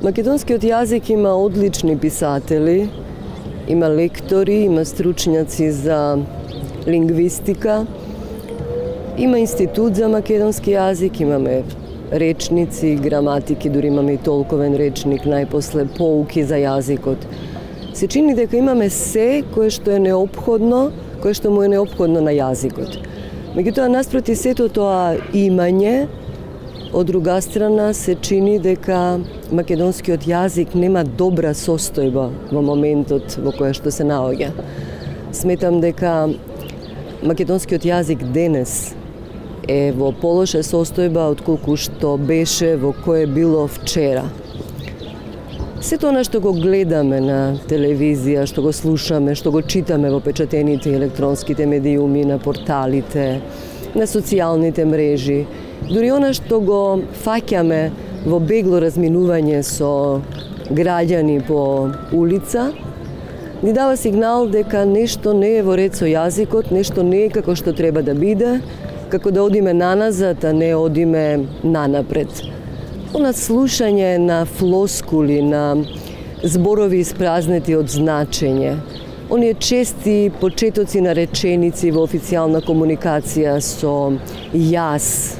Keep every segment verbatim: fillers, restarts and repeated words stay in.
Македонскиот јазик има одлични писатели, има лектори, има стручњаци за лингвистика, има институт за македонски јазик, имаме речници, граматики, дури имаме и толковен речник, најпосле поуки за јазикот. Се чини дека имаме се кое што е неопходно, кое што му е неопходно на јазикот. Меѓутоа, наспроти сето тоа имање, од друга страна се чини дека македонскиот јазик нема добра состојба во моментот во која што се наоѓа. Сметам дека македонскиот јазик денес е во полоша состојба отколку што беше во кое било вчера. Сето она што го гледаме на телевизија, што го слушаме, што го читаме во печатените и електронските медиуми, на порталите, на социјалните мрежи, дури она што го фаќаме во бегло разминување со граѓани по улица, ни дава сигнал дека нешто не е во ред со јазикот, нешто не е како што треба да биде, како да одиме наназад, а не одиме нанапред. Она слушање на флоскули, на зборови испразнети од значење, оние чести почетоци на реченици во официјална комуникација со јас,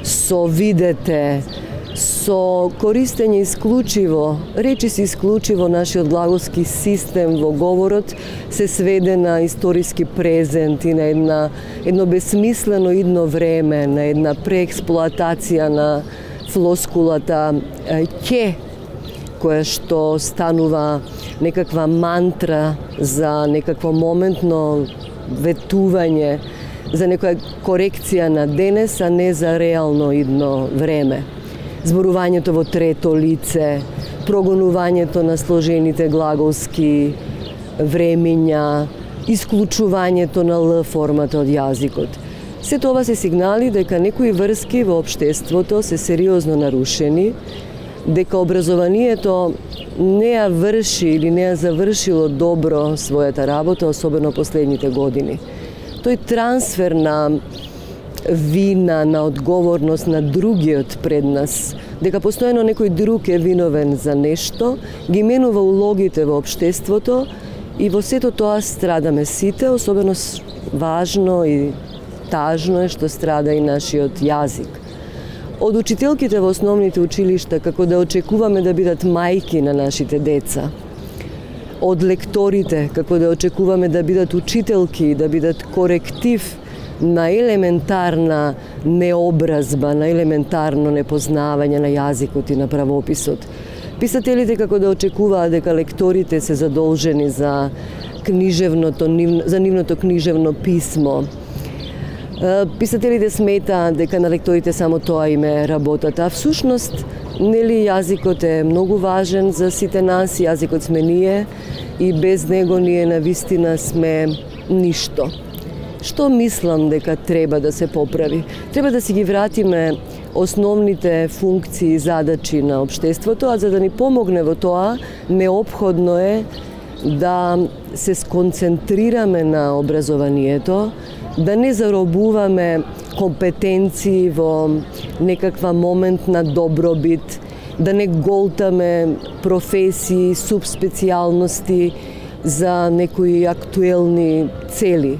со видете, со користење исклучиво, речиси исклучиво нашиот глаголски систем во говорот се сведе на историски презент и на една, едно бесмислено идно време, на една преексплоатација на флоскулата ќе, која што станува некаква мантра за некакво моментно ветување, за некоја корекција на денес, а не за реално идно време. Зборувањето во трето лице, прогонувањето на сложените глаголски времиња, исклучувањето на Л формата од јазикот. Се тоа се сигнали дека некои врски во општеството се сериозно нарушени, дека образованието не ја врши или не ја завршило добро својата работа, особено последните години. Тој трансфер на вина, на одговорност на другиот пред нас, дека постојано некој друг е виновен за нешто, ги менува улогите во општеството и во сето тоа страдаме сите, особено важно и тажно е што страда и нашиот јазик. Од учителките во основните училишта, како да очекуваме да бидат мајки на нашите деца, од лекторите, како да очекуваме да бидат учителки, да бидат коректив на елементарна необразба, на елементарно непознавање на јазикот и на правописот. Писателите како да очекуваат дека лекторите се задолжени за книжевното, за нивното книжевно писмо. Писателите сметаат дека на лекторите само тоа им е работата, а всушност, нели, јазикот е многу важен за сите нас, јазикот сме ние и без него ние на вистина сме ништо. Што мислам дека треба да се поправи? Треба да си ги вратиме основните функции и задачи на општеството, а за да ни помогне во тоа, неопходно е да се сконцентрираме на образованието, да не заробуваме компетенции во некаква моментна добробит, да не голтаме професии, субспецијалности за некои актуелни цели.